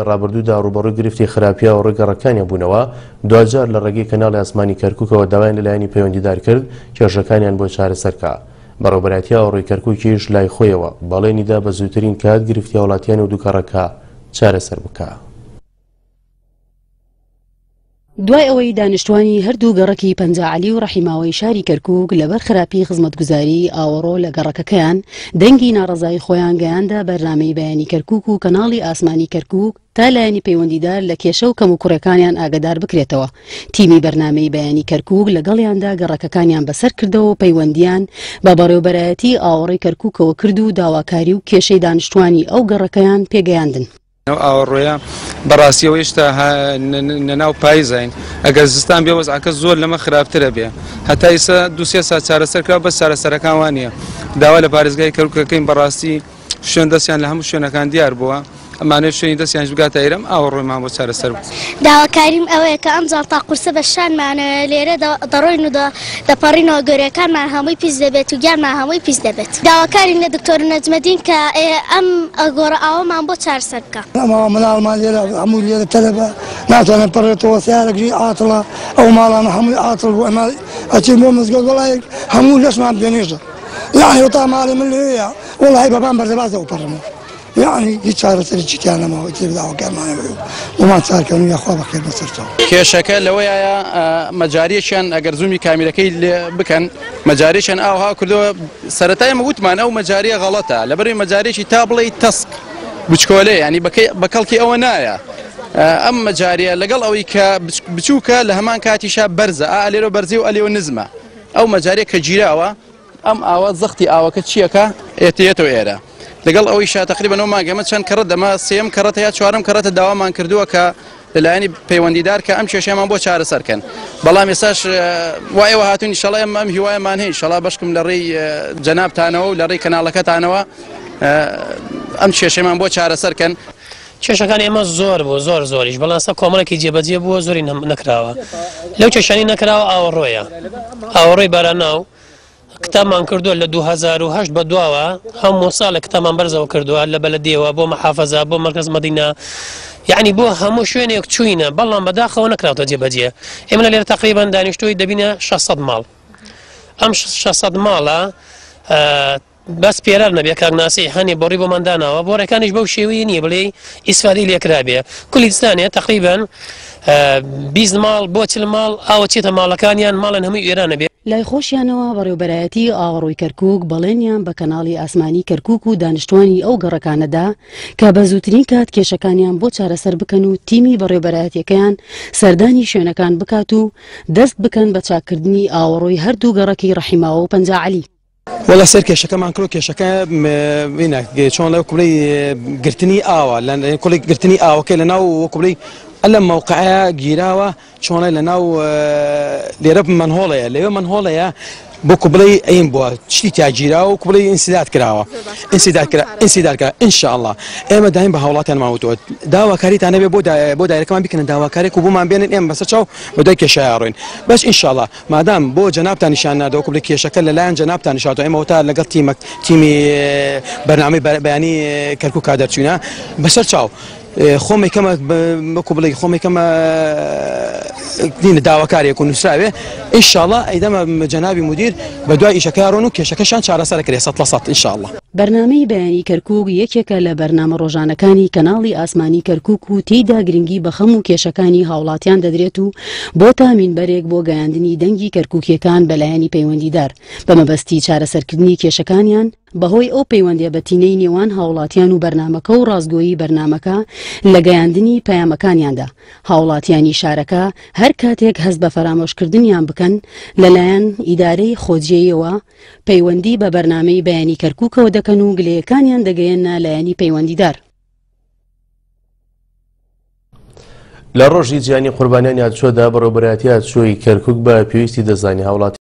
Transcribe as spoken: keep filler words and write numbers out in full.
ڕابردوودا ڕووبەڕووی گرفتی خراپی ئاوەڕۆی گەڕەکانیان بوونەوە، دواجار لە ڕێگەی کەناڵی ئاسمانی کەرکووکەوە داوایان لە لایەنی پەیوەندیدار کرد کێشەکانیان بۆ چارەسەر بکا. بەڕێوەبەرایەتی ئاوەڕۆی کەرکووکیش لای خۆیەوە بەڵێنیدا بە زووترین کات گرفتی هاوڵاتیان و دوو گەڕەکە چارەسەر بکا. دوای ئەوەی دانیشتوانی هەردوو گەڕەکی پەنجا عەلی و ڕەحیماوەی شاری کەرکووک لەبەر خراپی خزمەتگوزاری ئاوەڕۆ لە گەڕەکەکەیان دەنگی ناڕەزایی خۆیان گەیاندە بەرنامەی بەیانی کەرکووک و کەناڵی ئاسمانی کەرکووک تا لایەنی پەیوەندیدار لە کێشە و کەموکوڕیەکانیان ئاگادار بکرێتەوە. تیمی بەرنامەی بەیانی کەرکووک لەگەڵیاندا گەڕەکەکانیان بەسەر کردەوە و پەیوەندیان بە بەڕێوەبەرایەتی ئاوەڕۆی کەرکووکەوە کرد و داواکاری و کێشەی دانیشتوانی ئەو گەڕەکەیان پێگەیاندن. ئەو ئاوەڕۆیە بەڕاستیەوە هێشتا لەناو پاییزین، ئەگەر زستان بێ وەزعەکە زۆر لەمە خراپترە بێ. هەتا ئێستا دوو سێ سات چارەسەر کرا، بەس چارەسەرەکان وانە. داوا لە پارێزگای کەرکووکەکەین بەڕاستی شوێن دەستیان لە هەموو شوێنەکان دیار بووە، ئەمانەیە شوێنی دەستیانش بگاتە ئێرەم ئاوەڕۆیمان بۆ چارەسەر بوو. داواکاریم ئەوەیە کە ئەم جاڵتا قورسە بە شانمانەوە لێرە دەڕۆین و دەپەڕینەوە، گۆرەکانمان هەمووی پیس دەبێت و گیانمان هەمووی پیس دەبێت. داواکارین لە دکتۆر نەجمەدین کە ئەم گۆڕە ئاوەمان بۆ چارەسەر بکە. ئەمە مناڵمان لێرە هەموو لێرە تەلەبە ناتوانن پەڕێتەوە، سیارەکەی عاتڵە، ئەو ماڵانە هەمووی عاتڵ بوو. ئەمە ئەچین بۆ مزگەوت وەڵای هەموو لەشمان بێنێژە، یعنی وتا ماڵی من لەوێیە وەڵای بەبان بەردەبازەوە پەڕمەوە، یعنی هیچ چارەسەرێکی تیا نەماوە. ئیتر داواکارمانەوە ومان چارکەن و یاخوا بەخێر بەسەرچاو. کێشەکە لەوەیە مەجاریەکیان ئەگەر زوومی کامیرەکەی لێ بکەن مەجاریەکیان ئاوها کردەوە. سەرەتای ئێمە وتمان ئەو مەجاریە غەڵەتە، لەبەرەوەی مەجاریەکی تا بڵێی تەسک بچکۆلێ، ینی بە کەڵکی ئەوە نایە. ئەم مەجاریە لەگەڵ ئەوەی کە بچووکە لە هەمان کاتیشا بەرزە، ئا لێرە بەرزی و ئەلێوە نزمە. ئەو مەجاریە کە گیراوە ئەم ئاوە زەختی ئاوەکە چیەکە ئێتێتەوە ئێرە. لەگەڵ ئەوەی شا تقریبا ئەو مانگەمە چەند کەڕەت دەما سێم کەڕەتە یا چوارەم کەڕەتە داوامان کردووە کە لەلایەنی پەیوەندیدار کە ئەم کێشەیەمان بۆ چارەسەرکەن. بەڵام ئێستاش وا ئێوە هاتوون ئینشەڵا ئێمە ئەم هیوایەمان هەیە ئینشەڵا بەشکم لە ڕێی جەنابتانەوە و لە ڕێی کەناڵەکەتانەوە ئەم کێشەیەمان بۆ چارەسەرکەن. کێشەکان ئێمە زۆر بوو، زۆر زۆریش، بەڵام ئێستا کۆمەڵێکی جێبەجێ بووە، زۆری نەکراوە. لەو کێشانەی نەکراوە ئاوەڕۆیە، ئاوەڕۆی باراناو کتابمان کردووە لە دوو هەزار و هەشت بە دواوە، هەموو ساڵێک کتابمان بەرزەوە کردووە لە بەلەدیەوە بۆ محافەزە بۆ مەرکەز مەدینە، یعنی بۆ هەموو شوێنێک چووینە، بەڵام بەداخەوە نەکراوتە جێبەجێ. ئێمە لێرە تقریبا دانیشتووی دەبینە شەش سەد ماڵ. ئەم شەش سەد ماڵە بەس پێرار نەبێ کاک ناسی هەنێ بۆڕی بۆمان داناوە، بۆڕەکانیش بەو شێوەیە نییە بڵێ ئیسفادەی لێکرابێ. کولیستانێ تقریبا بیست ماڵ بۆ چل ماڵ ئاوە چێتە ماڵەکانیان، ماڵن هەمووی ئێرانە بێ. لای خۆشیانەوە بەڕێوەبەرایەتی ئاوەڕۆی کەرکووک بەڵێنیان بە کەناڵی ئاسمانی کەرکووک و دانیشتوانی ئەو گەڕەکانەدا کە بە زووترین کات کێشەکانیان بۆ چارەسەر بکەن و تیمی بەڕێوەبەرایەتیەکەیان سەردانی شوێنەکان بکات و دەست بکەن بە چاککردنی ئاوەڕۆی هەردوو گەڕەکی ڕەحیماوە و پەنجا عەلی. وەڵا سەر کێشەکەمان کرد، کێشەکە چۆن لەو کوڵی گرتنی ئاوە، کوڵی گرتنی ئاوەکەی لەناو کوڵی ئەلە مەوقعەیە گیراوە، چۆنە لەناو لێرە مەنهۆڵەیە، لەوێ مەنهۆڵەیە بۆ کوبڵەی ئەیم بووە شتی تیا گیراوە و کوبڵەی ئینسیداد کراوە، ئینسیداد کرا، ئینسیداد کرا. ئینشاءڵڵا ئێمە دایم بە هاوڵاتیانمان وتووە داواکاریتان نەبێ بۆ دایرەکەمان بیکەنە داواکارێک و بۆمان بێنن ئێمە بەسەر چاو بە دوای کێشەیە ڕۆین. بەس ئینشاءڵڵا مادام بۆ جەنابتان نیشان نادەوە کوبڵەی کێشەکە لەلایەن جەنابتان نیشاتەوە، ئێمە وتا لەگەڵ تیمەک تیمی بەرنامەی بەیانی کەرکووکا دەرچوینە بەسەر چاو خۆمی کەمە وەکو بڵێ خۆمی کەمە داواکارێک و نووسراوێ ئینشاءڵڵا ئەیدەمە جەنابی مدیر بە دوای ئیشەکە ڕۆن و کێشەکەشان چارەسەر کرێ سەد لە سەد ئینشاءڵڵا. بەرنامەی بەیانی کەرکووک یەکێکە لە بەرنامە ڕۆژانەکانی کەناڵی ئاسمانی کەرکووک و تێیدا گرنگی بە خەم و کێشەکانی هاوڵاتیان دەدرێت و بۆ تامینبەرێک بۆ گەیاندنی دەنگی کەرکووکیەکان بەلایەنی پەیوەندیدار بە مەبەستی چارەسەرکردنی کێشەکانیان بەهۆی ئەو پەیوەندیە بەتینەی نێوان هاوڵاتیان و بەرنامەکە و ڕاستگۆیی بەرنامەکە لە گەیاندنی پەیامەکانیاندا. هاوڵاتیانی شارەکە هەر کاتێک هەست بە فەرامۆشکردنیان بکەن لەلایەن ئیدارەی خۆجێیەوە پەیوەندی بە بەرنامەی بەیانی کەرکووکەوە دەکەن و گلەیەکانیان دەگەیەنە لایەنی پەیوەندیدار. لە ڕۆژی جیهانی قوربانیانی هاتوچۆدا بەڕێوەبەرایەتی هاتوچۆی کەرکووک بە پێویستی دەزانی هاوڵاتی